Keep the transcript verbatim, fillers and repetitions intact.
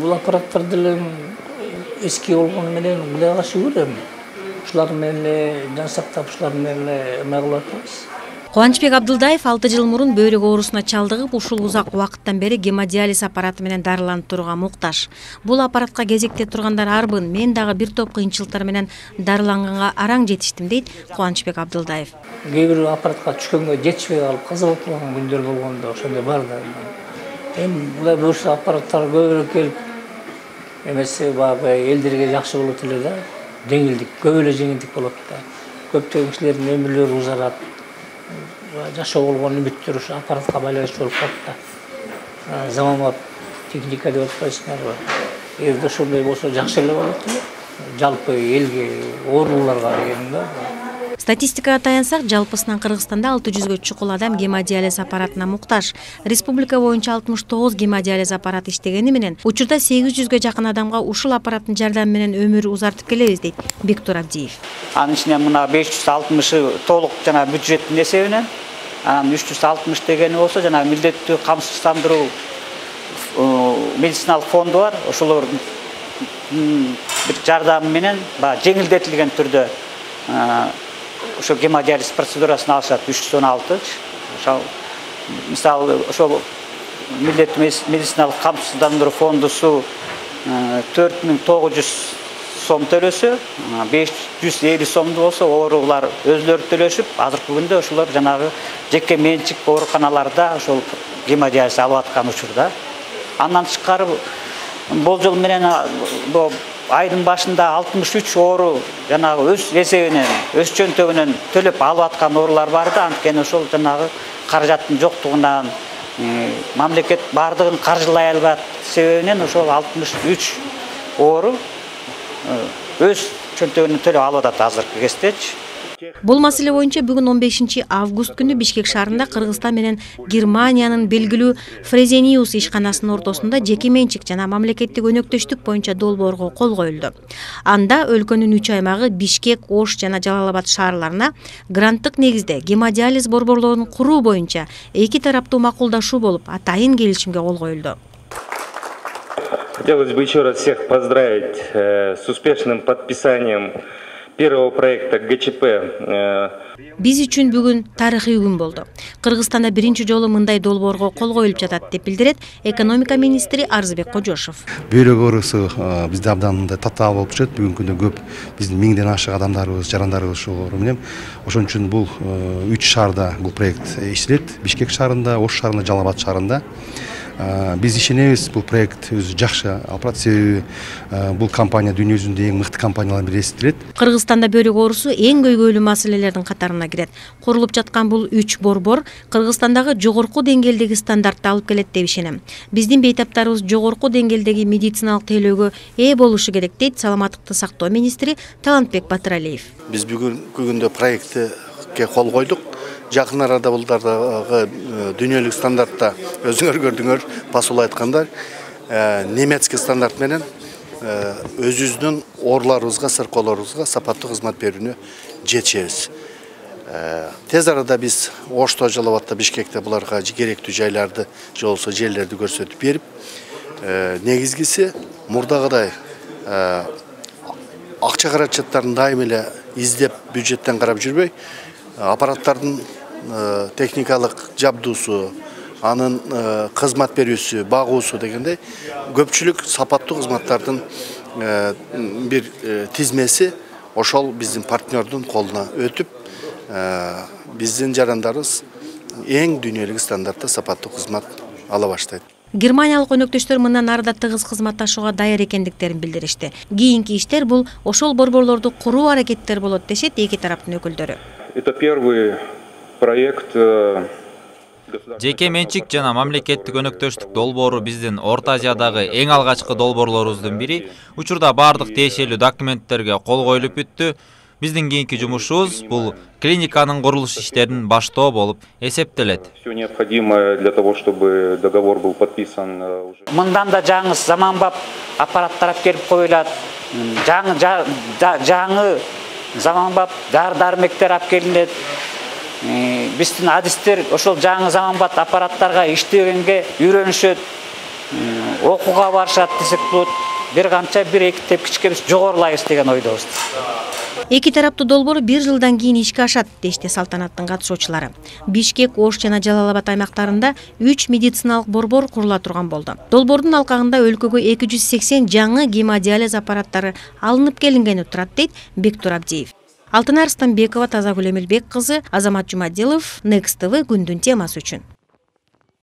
бул аппараттар деле эски болгону менен Кудай каласа көрөм. Ушулар менен жан сактап, ушулар менен эме кылып атабыз. Кубанычбек Абдылдаев алты жыл мурун бөйрөк оорусуна чалдыгып, ушул узак убакыттан бери гемодиализ аппараты менен дарыланып турууга муктаж. Бул аппаратка кезекте тургандар арбын, мен дагы бир топ кыйынчылыктар менен дарыланганга араң жетиштим, дейт Кубанычбек Абдылдаев. Кээ бир аппаратка түшкөнгө жетишпей калып каза болуп калган күндөр болгондо ошондой бар да. Эми мындай бөшө аппараттар көбүрөөк келип, эмесе баягы элдерге жакшы болот эле да. Жеңилдик, көп эле жеңилдик болот да. Көптөгөн кишилердин өмүрлөрү узарат. Жашоо болгон үмүттөр ушу аппаратка байланыштуу болуп калат да. Заманбап техника деп атпайсыңарбы? Эгерде ошондой болсо жакшы эле болот эле. Жалпы элге, ооруларга деген да. Статистикага таянсак, жалпысынан Кыргызстанда алты жүзгө чукул адам гемодиализ аппаратына муктаж. Республика боюнча алтымыш тогуз гемодиализ аппараты иштегени менен, учурда сегиз жүзгө жакын адамга ушул аппараттын жардамы менен өмүр узартып келебиз, дейт Бектур Абдиев. Анын ичинен мына беш жүз алтымышы толук жана бюджеттин эсебинен, анан үч жүз алтымыш дегени болсо жана милдеттүү камсыздандыруу медициналык фонду бар. Ошолор бир жардамы менен баягы жеңилдетилген түрдө ошо гемодиализ процедурасын алышат. үч жүз он алты. Ошол мисалы ошол милдеттүү медициналык камсыздандыруу фондусу төрт миң тогуз жүз сом төлөсө, беш жүз элүү сомду болсо оорулар өзлөрү төлөшүп, азыркы күндө ошолор жанагы жеке менчик ооруканаларда ошол гемодиализ алып аткан учурда. Андан тышкары болжол менен айдын башында алтымыш үч оору жанагы өз эсебинен, өз чөнтөгүнөн төлөп алып аткан оорулар бар да, анткени ошол жанагы каражаттын жоктугунан мамлекет бардыгын каржылай албат себебинен ошол алтымыш үч оору өз чөнтөгүнөн төлөп алып атат азыркы кездечи. Бул маселе боюнча бүгүн он бешинчи август күнү Бишкек шаарында Кыргызстан менен Германиянын белгилүү Фрезениус ишканасынын ортосунда жеке менчик жана мамлекеттик өнөктөштүк боюнча долбоорго кол коюлду. Анда өлкөнүн үч аймагы Бишкек, Ош жана Жалал Абад шаарларына гранттык негизде гемодиализ борборлорун куруу боюнча эки тараптуу макулдашуу болуп, атайын келишимге кол коюлду. Хотелось бы еще раз всех поздравить э, с успешным подписанием первого проекта ГЧП. Биз үчүн бүгүн тарыхый күн болду. Кыргызстанда биринчи жолу мындай долбоорго кол коюлуп жатат, деп билдирет экономика министри Арзыбек Кожошов. Бөйрөк оорусу бизде абдан татаал болуп жүрөт. Бүгүнкү күндө көп биздин миңден ашык адамдарыбыз, жарандарыбыз ушул оору менен. Ошон үчүн бул үч шаарда бул проект иштелет. Бишкек шаарында, Ош шаарында, Жалал Абад шаарында. Биз ишенебиз, бул проект өзү жакшы алып барат, себеби бул компания дүйнө жүзүндө эң мыкты компаниялардын бири эсептелет. Кыргызстанда бөйрөк оорусу эң көйгөйлүү маселелердин катарына кирет. Курулуп жаткан бул үч борбор Кыргызстандагы жогорку деңгээлдеги стандартты алып келет деп ишенем. Биздин бейтаптарыбыз жогорку деңгээлдеги медициналык тейлөөгө ээ болушу керек, дейт саламаттыкты сактоо министри Талантбек Батыралиев. Биз бүгүнкү күндө проектке кол койдук. Жакын арада булдардагы дүйнөлүк стандартта өзүңөр көрдүңөр, басуулай айтканда немецкий стандарт менен өзүбүздүн ооруларыбызга, сыркоолорубузга сапаттуу кызмат берүүнү жетишебиз. Тез арада биз Ошто, Жалал Абадта, Бишкекте буларга керектүү жайларды, же болбосо жерлерди көрсөтүп берип, негизгиси мурдагыдай акча каражаттарын дайым эле издеп бюджеттен карап жүрбөй, аппараттардын техникалык жабдуусу, анын кызмат берүүсү, багуусу дегендей көпчүлүк сапаттуу кызматтардын бир тизмеси ошол биздин партнердун колуна өтүп, биздин жарандарыбыз эң дүйнөлүк стандартта сапаттуу кызмат ала баштайт. Германиялык өнөктөштөр мындан ары да тыгыз кызматташууга даяр экендиктерин билдиришти. Кийинки иштер бул ошол борборлорду куруу аракеттер болот, дешет эки тараптын өкүлдөрү. Это первый проект. Жеке менчик жана мамлекеттик өнөктөштүк долбоору биздин Орто Азиядагы эң алгачкы долбоорлорубуздун бири. Учурда бардык тиешелүү документтерге кол коюлуп бүттү. Биздин кийинки жумушубуз бул клиниканын курулуш иштерин баштоо болуп эсептелет. Всё необходимое для того, чтобы договор был подписан. Мындан да жаңы заманбап аппараттар алып келип коюлат. Жаңы жаңы заманбап дары-дармектер алып келинет. Биздин адистер ошол жаңы заманбап аппараттарга иштегенге үйрөнүшөт. окууга барышат десек болот. Бир канча бир эки тепкичке биз жогорулайбыз деген ойдобуз. Эки тараптуу долбоор бир жылдан кийин ишке ашат, дешти салтанаттын катышуучулары. Бишкек, Ош жана Жалал Абад аймактарында үч медициналык борбор курула турган болду. Долбоордун алкагында өлкөгө эки жүз сексен жаңы гемодиализ аппараттары алынып келингени турат, дейт Бектур Абдиев. Алтынай Арстанбекова, Тазагүл Эмилбек кызы, Азамат Жумадилов, Next тэ вэ күндүн темасы үчүн.